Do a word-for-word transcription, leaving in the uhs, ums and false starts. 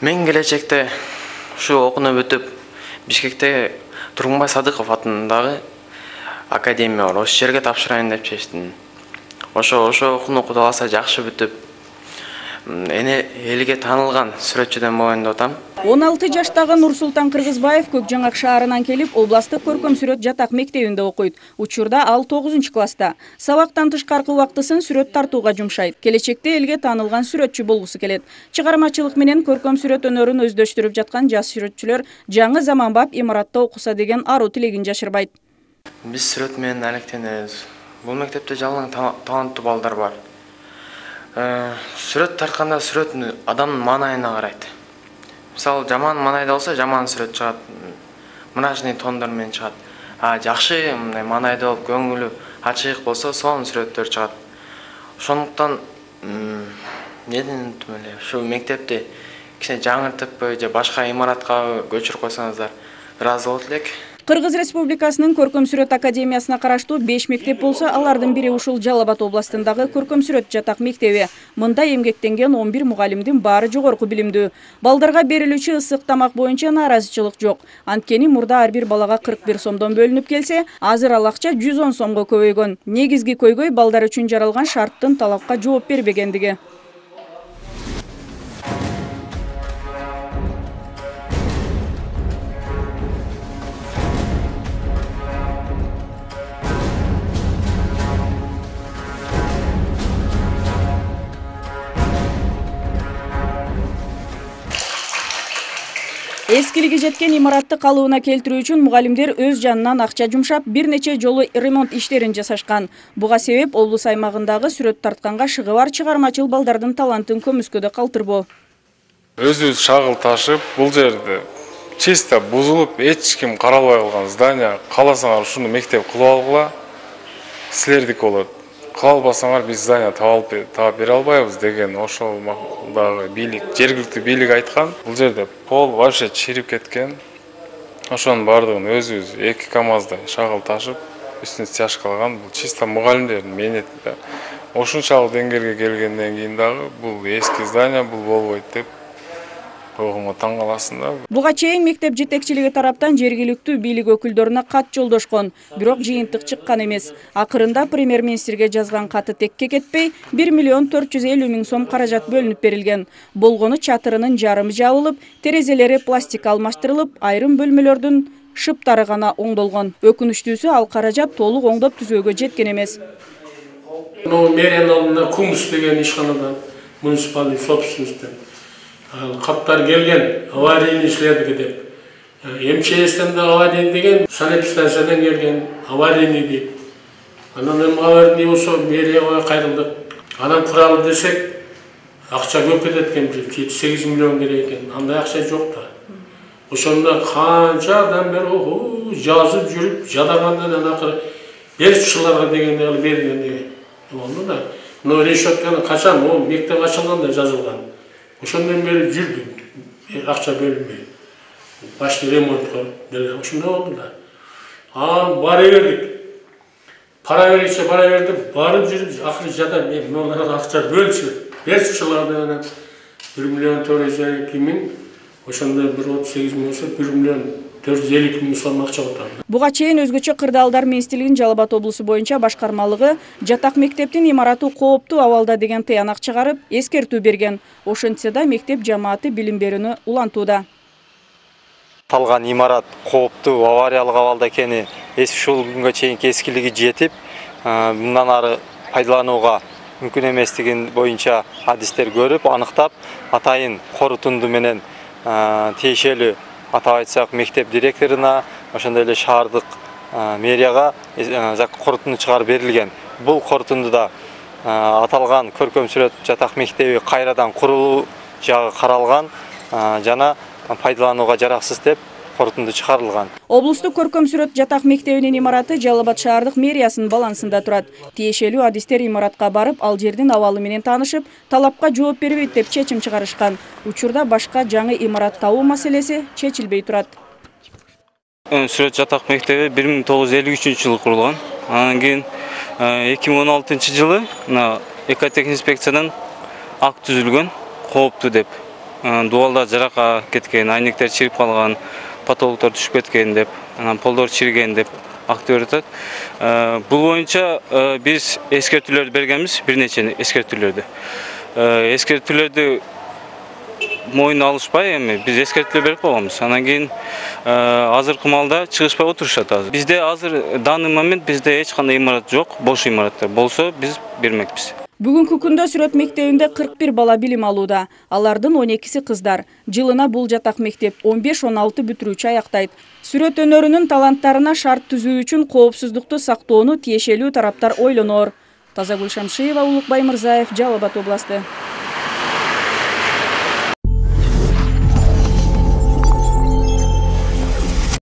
Мен келечекте ушу окууну бүтүп Бишкекте Тургунбай Садыков атындагы академия бар. Ошол жерге тапшырайын деп чечтим. Ошо ошо окууну кудай кааласа жакшы бүтүп, эне элге таанылган сүрөтчүдөн болоюн деп атам. он алты жаштагы Нурсултан Кыргызбаев Көкжаңак шаарынан келип, областык көркөм сүрөт жатак мектебинде окуйт. Учурда ал тогузунчу класста. Сабактан тышкаркы убактысын сүрөт тартууга жумшайт. Келечекте элге таанылган сүрөтчү болгусу келет. Чыгармачылык менен көркөм сүрөт өнөрүн өздөштүрүп жаткан жаш сүрөтчүлөр жаңы заманбап имаратта окуса деген аруу тилегин жашырбайт. Биз сүрөт менен алектенебиз. Бул мектепте жалаң таланттуу балдар бар. Сүрөт тартканда сүрөт адамдын маанайына карайт. Мисалы, жаман маанайда болсо жаман сүрөт чыгат, мрачный тондар менен чыгат. А жакшы мындай маанайда болуп, көңүлү ачык болсо, сонун сүрөттөр чыгат. Ошондуктан неден уттум эле, ушу мектепти кичине жаңыртып же башка имаратка көчүрүп койсоңуздар ыраазы болот элек. Кыргыз Республикасынын Көркөм сүрөт академиясына караштуу беш мектеп болсо, алардын бири ушул Жалал Абад областындагы Көркөм сүрөт жатак мектеби. Мында эмгектенген он бир мугалимдин баары жогорку билимдүү. Балдарга берилүүчү ысык тамак боюнча нааразычылык жок. Анткени мурда ар бир балага кырк бир сомдон бөлүнүп келсе, азыр ал акча жүз он сомго көбөйгөн. Негизги көйгөй балдар үчүн жаралган шарттын талапка жооп бербегендиги. Эскилиги жеткен имаратты калыбына келтирүү үчүн мугалимдер өз жанынан акча жумшап, бир нече жолу ремонт иштерин жасашкан. Буга себеп облус аймагындагы сүрөт тартканга шыгы бар чыгармачыл балдардын талантын көмүскөдө калтырбоо. Өзүбүз шагыл ташып, бул жерде чисто бузулуп, эч ким каралбай калган здание, кааласаңар ушуну мектеп кылып алгыла, силердики болот. Кыла албасаңар биз здание таап бере албайбыз деген ошол дагы бийлик, жергиликтүү бийлик айткан. Бул жерде пол вообще чирип кеткен. Ошонун бардыгын өзүбүз эки камазда шагыл ташып, үстүн стяжка кылган. Бул чисто мугалимдердин мээнети да. Ошунчалык деңгээлге келгенден кийин дагы бул эски здание бул болбойт деп койгонго таң каласың да. Буга чейин мектеп жетекчилиги тараптан жергиликтүү бийлик өкүлдөрүнө кат жолдошкон, бирок жыйынтык чыккан эмес. Акырында премьер-министрге жазган каты текке кетпей, бир миллион төрт жүз элүү миң сом каражат бөлүнүп берилген. Болгону чатырынын жарымы жабылып, терезелери пластик алмаштырылып, айрым бөлмөлөрдүн шыптары гана оңдолгон. Өкүнүчтүүсү, ал каражат толук оңдоп түзөөгө жеткен эмес. Мэриянын алдында Кумс деген ишканадан муниципальный собственностьтен каттар келген, аварийный ишледик деп. МЧСтен да аварийный деген, санэпидстанциядан келген, аварийный дейт. Анан эми аварийный болсо мэрияга кайрылдык. Анан куралы десек, акча көп кетет экен, жети сегиз миллион керек экен. Андай акча жок да. Ошондо канча адам бери жазып жүрүп, жадагандан акыры берчилерге дегенде алып берген деген. Болду да. Но решетканы качан, ол мектеп ачылганда жазылган. Ошондон бери жүрдүм, акча бөлүнбөй. Башты ремонтко деле ошондой болду да. Анан бара бердик. Пара беричи бара бердик, барып жүрүп, акыры жада мен мыналарга акча бөлчү. Берчилерге бир миллион төрт жүз эки миң, ошондо бир отуз сегиз миң болсо бир миллион төрт жүз элүү миң сом акча отурат. Буга чейин өзгөчө кырдаалдар министрлигинин Жалал Абад облусу боюнча башкармалыгы жатак мектептин имараты кооптуу абалда деген тыянак чыгарып, эскертүү берген. Ошентсе да мектеп жамааты билим берүүнү улантууда. Аталган имарат кооптуу авариялык абалда экени ушул күнгө чейинки эскилиги жетип, мындан ары пайдаланууга мүмкүн эместигин боюнча адистер көрүп, аныктап, атайын корутунду менен тиешелүү атап айтсак мектеп директоруна, ошондой эле шаардык мэрияга корутунду чыгарып берилген. Бул корутундуда аталган көркөм сүрөт жатак мектеби кайрадан курулуу жагы каралган жана пайдаланууга жараксыз деп корутунду чыгарылган. Облустук көркөм сүрөт жатак мектебинин имараты Жалал Абад шаардык мэриясынын балансында турат. Тиешелүү адистер имаратка барып, ал жердин абалы менен таанышып, талапка жооп бербейт деп чечим чыгарышкан. Учурда башка жаңы имарат табуу маселеси чечилбей турат. Сүрөт жатак мектеби бир миң тогуз жүз элүү үчүнчү жылы курулган. Анан кийин эки миң он алтынчы жылы экотех инспекциядан акт түзүлгөн, кооптуу деп. дубалда жарака кеткен, айнектер чирип калган, потолоктор түшүп кеткен деп, анан полдор чириген деп актып жатат. Бул боюнча биз эскертүүлөрдү бергенбиз, бир нече эскертүүлөрдү. Эскертүүлөрдү мойнуна алышпай эми биз эскертүүлөр берип койгонбуз. Анан кийин азыркы маалда чыгышпай отурушат азыр. Бизде азыр данный момент бизде эч кандай имарат жок, бош имараттар болсо биз бермекпиз. Бүгүнкү күндө Сүрөт мектебинде кырк бир бала билим алууда. Алардын он экиси кыздар. Жылына бул жатак мектеп он беш он алты бүтүрүүчү аяктайт. Сүрөт өнөрүнүн таланттарына шарт түзүү үчүн коопсуздукту сактоону тиешелүү тараптар ойлоноор. Тазагүл Шамшиева, Улукбай Мырзаев, Жалал Абад областы.